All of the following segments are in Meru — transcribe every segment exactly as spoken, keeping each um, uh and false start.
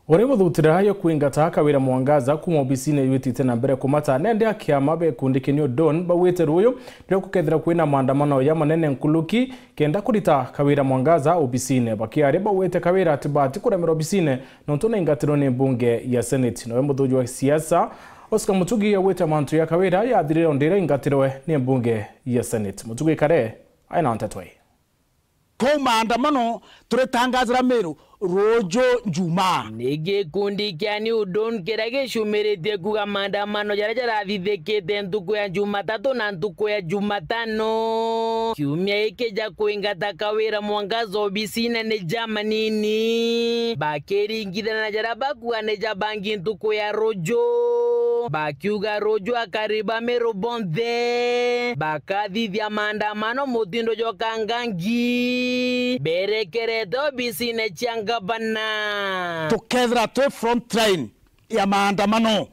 Uri guthutira yo kwingata Kawira Mwangaza kuuma obisine yutite na mbere kumata, nende akiama be gikundi kia New Dawn baugite ruyu nirio gukethira kwina maandamano ya manene nkuruki kenda kurita Kawira Mwangaza obisine. Bakiaria baugite Kawira atibati kuremerwa obisine nontu naingatirwe ni mbunge ya Senate. Nowe muthuji wa siasa Oscar Mutugi augite mantu ya Kawira yathirire o ndira aingatirwe ni mbunge ya Senate. Mutugi Kare aina nteto ii. Kuu maandamano turitangazira Meru ruju Njumaa. Ni gikundi kia New Dawn kiria gicumiritie kuuga maandamano jaria jarathithikite ntuku ya Jumatatu na ntuku ya Jumatano kiumia giki ja kwingata Kawira Mwangaza obisine ni jamanini, bakiringithana na jaria bakuuga ni ja bangi ntuku ya ruju, bakiuga ruju akari ba Meru bonthe bakathithia maandamano mutindo jwa kangangi berekerete obisine cia ngavana. Tukethira twi front line ya maandamano,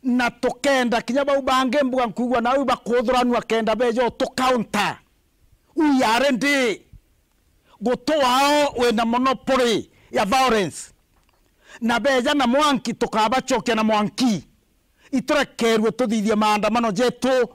na tukenda kinya bau bangi mbuga nkuigua nau bakuthuranua kenda beja utukaunta. We are ready. Guti wao wina monopoly ya violence, na beja na mwanki tukabacokia na mwanki. Iturekerue tuthithie maandamano jetu.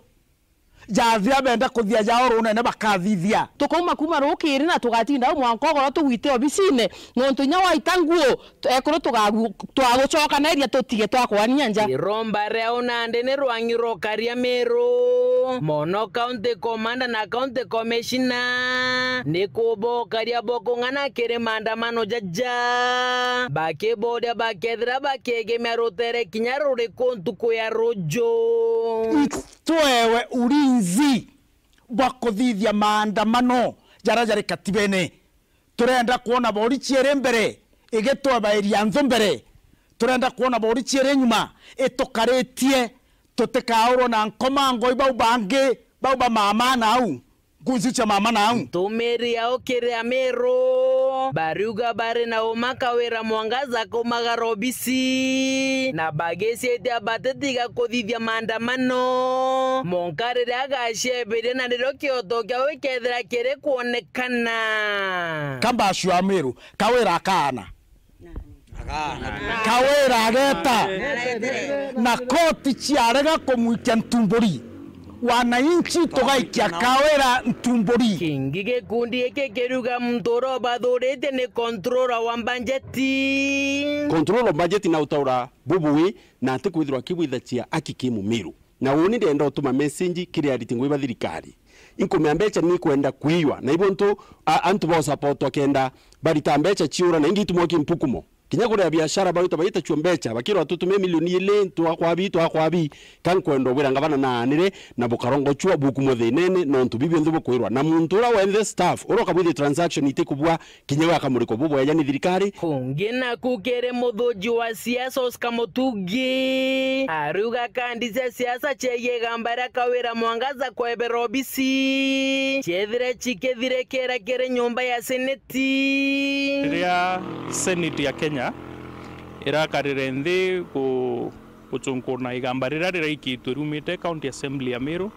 Jathira benda kuthia jao runene bakathithia. Tukauma kuuma rukiri na tugatinda au mwanka ugoro tugwite obisine, nontu inya waita nguo, ekuru tugagu-, twagucokaneria tutige twakwania nja. Iromba riao nandi ni rwang'i rwa ukaria Meru, mono County Commander na County Commissioner ni kubokaria bokung'ana kiri maandamano jaja, bakiboria bakethira bakiegemia rutere kinya ruriku ntuku ya ruju. Twewe ulinzi bwa kuthithia maandamano jaria jari katibene. Turenda kwona borichi iri mbere igitwebairia nthu mbere. Turenda kwona borichi iri nyuma itukaritie, tutikaurwa na nkomango i bau bangi, bau ba mama nau, nkunzi cia mama nau. Ntumiri yao kiri Amiru bariuga bari na uma Kawira Mwangaza kumagara obisi, na bagicitia batitiga kuthithia maandamano monka riria agacebiria na nirio kioto kiao gikethira kiri kwonekana. Kambashu Amiru, Kawira akaana. Kawira ageta. Na koti ciarega kumwikia ntumburi, wananchi tugaikia Kawira ntumburi. Kingi gikundi giki kiriuga muntu uria ubathuritie ni controller wa mbajeti. Controller wa mbajeti na utaura bubui na ati kwithirwa akibwithacia aki ki Mumiru. Na uuni ndenda utuma message kiri ariti ngui ba thirikari. Inkumea mbeca ni kwenda kwiywa. Na ibo ntu a-, antu ba usapotwa kenda barita mbeca ciura na ingi itumwa ki mpukumo. Kinya kuria biashara bawita baita chuo mbeca, bakirwa tutumie milioni ili, twakwabi, twakwabi. Ka nkwenda ubwira ngavana naanire na bukarongochua bukumwa thinene, nontu bibi bionthe bukwirwa. Na muntu uria wenthe staff, uria ukabwithia transaction itikubua, kinya we akamurikwa bubwega ni thirikari. Kungi naku kiri muthuji wa siasa Oscar Mutugi, ariuga kandi cia siasa ciegie igamba ria Kawira Mwangaza kwebera obisi, ciethire cikithirikira kiri nyumba ya seneti. Riria seneti ya Kenya irakarire nthi ku-, gucunkuna igamba riria riraikitwe riumite County Assembly ya Miru,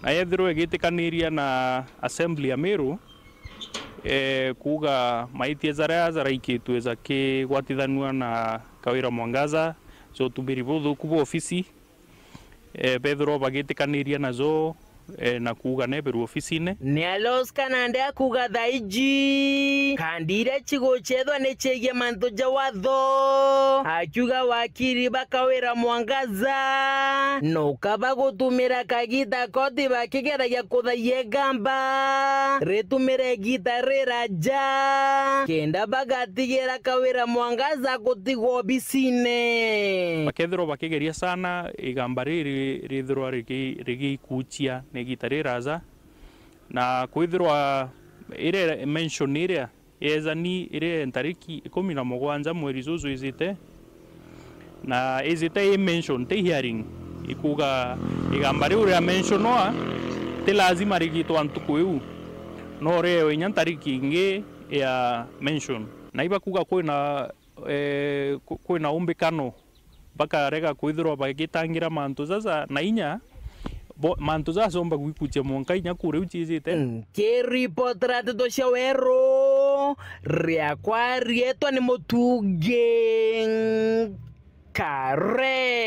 na yethirwa igitikaniria na Assembly ya Miru, eh, kuuga maitia jaria jaraikitwe jakigwatithanua na Kawira Mwangaza, ja utumiri buthuku bwa ofisi, eh, bethirwa bagitikaniria najo, eh, na kuuga neberwe ofisine. Ni Aloska nandi akuuga thaiji, kandi iria cigucethwa ni ciegie mantu ja watho, akiuga wakiri ba Kawira Mwangaza, nuka bagutumira kagita koti bakigeragia kuthaia igamba, ritumire igita riraja, kenda bagatigira Kawira Mwangaza gutigwa obisine. Bakethirwa bakigeria sana igamba riri rithirwa rigi-, rigikuchia na igita riraja, na kwithirwa iria mention iria Yezani iri ntariki ikumi na mugwanja mweri juju ijite, na ijite i mention, ti hearing, ikuuga igamba riu ria mentionwa ti lazima rigitwa ntuku iu, no riewe inya ntariki ingi ya mention. Na ibakuuga kwina, eh, ku-, kwina umbikano bakarega kwithirwa bagitangira mantu jaja na inya bo-, mantu jaja jomba gwikuchia mwanka inya kuu riu ciijite. Nkiripotera nteto cia Weru, riakwa rietwa ni Mutungi Nkare.